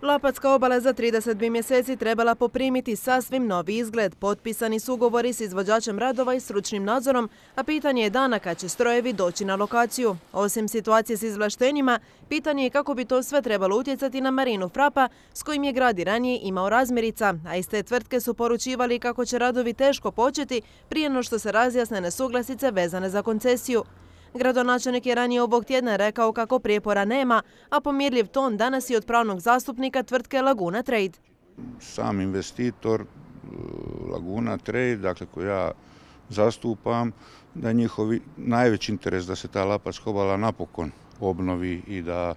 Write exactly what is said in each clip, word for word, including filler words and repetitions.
Lapatska obala za trideset bi mjeseci trebala poprimiti sasvim novi izgled. Potpisani su ugovori s izvođačem radova i stručnim nadzorom, a pitanje je dana kad će strojevi doći na lokaciju. Osim situacije s izvlaštenjima, pitanje je kako bi to sve trebalo utjecati na Marinu Frapa, s kojim je grad i ranije imao razmirica, a iz te tvrtke su poručivali kako će radovi teško početi prije no što se razjasne nesuglasice vezane za koncesiju. Gradonačelnik je ranije ovog tjedna rekao kako prijepora nema, a pomirljiv ton danas i od pravnog zastupnika tvrtke Laguna Trade. Sam investitor Laguna Trade, dakle koju ja zastupam, da je njihov najveći interes da se ta Lapatska obala napokon obnovi i da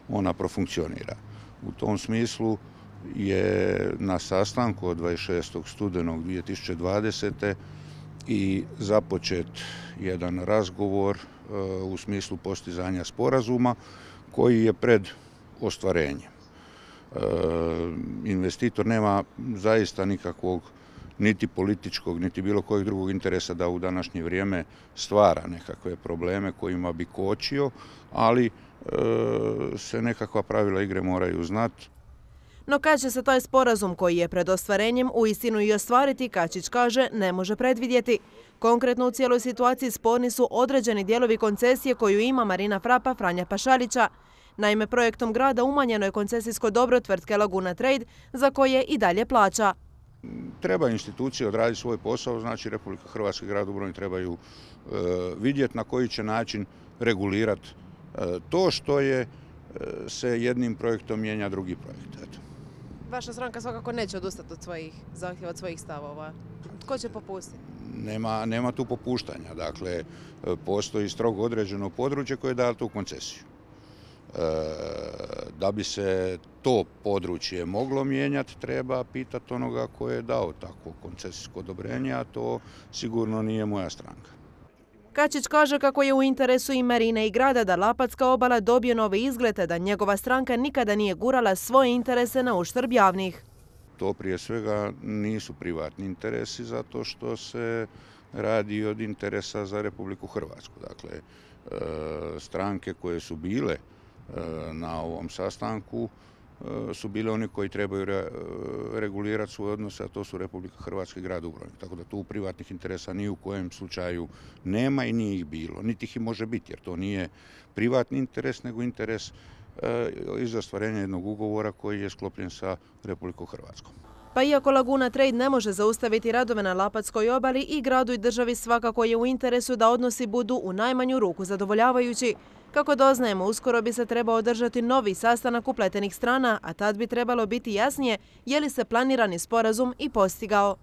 ona profunkcionira. U tom smislu je na sastanku od dvadeset šestog studenog dvije tisuće dvadesete i započet jedan razgovor u smislu postizanja sporazuma koji je pred ostvarenjem. Investitor nema zaista nikakvog niti političkog, niti bilo kojeg drugog interesa da u današnje vrijeme stvara nekakve probleme kojima bi kočio, ali se nekakva pravila igre moraju znati. No kad će se taj sporazum koji je pred ostvarenjem uistinu i ostvariti, Kačić kaže, ne može predvidjeti. Konkretno u cijeloj situaciji sporni su određeni dijelovi koncesije koju ima Marina Frapa Franja Pašalića. Naime, projektom grada umanjeno je koncesijsko dobro tvrtke Laguna Trade, za koje i dalje plaća. Treba institucije odraditi svoj posao, znači Republika Hrvatska i grad Dubrovnik trebaju e, vidjeti na koji će način regulirati e, to što je e, se jednim projektom mijenja drugi projekt. Eto. Vaša stranka svakako neće odustati od svojih zahtjeva, od svojih stavova. Tko će popustiti? Nema, nema tu popuštanja. Dakle, postoji strogo određeno područje koje daje tu koncesiju. E, da bi se to područje moglo mijenjati, treba pitati onoga ko je dao takvo koncesijsko odobrenje, a to sigurno nije moja stranka. Kačić kaže kako je u interesu i Marine i grada da Lapatska obala dobije nove izglede, da njegova stranka nikada nije gurala svoje interese na uštrb javnih. To prije svega nisu privatni interesi zato što se radi od interesa za Republiku Hrvatsku. Dakle, stranke koje su bile na ovom sastanku su bile oni koji trebaju regulirati svoje odnose, a to su Republika Hrvatska i grad Dubrovnik. Tako da tu privatnih interesa ni u kojem slučaju nema i nije ih bilo. Niti ih i može biti, jer to nije privatni interes, nego interes iz ostvarenja jednog ugovora koji je sklopljen sa Republikom Hrvatskom. Pa iako Laguna Trade ne može zaustaviti radove na Lapatskoj obali, i gradu i državi svakako je u interesu da odnosi budu u najmanju ruku zadovoljavajući. Kako doznajemo, uskoro bi se trebao održati novi sastanak upletenih strana, a tad bi trebalo biti jasnije je li se planirani sporazum i postigao.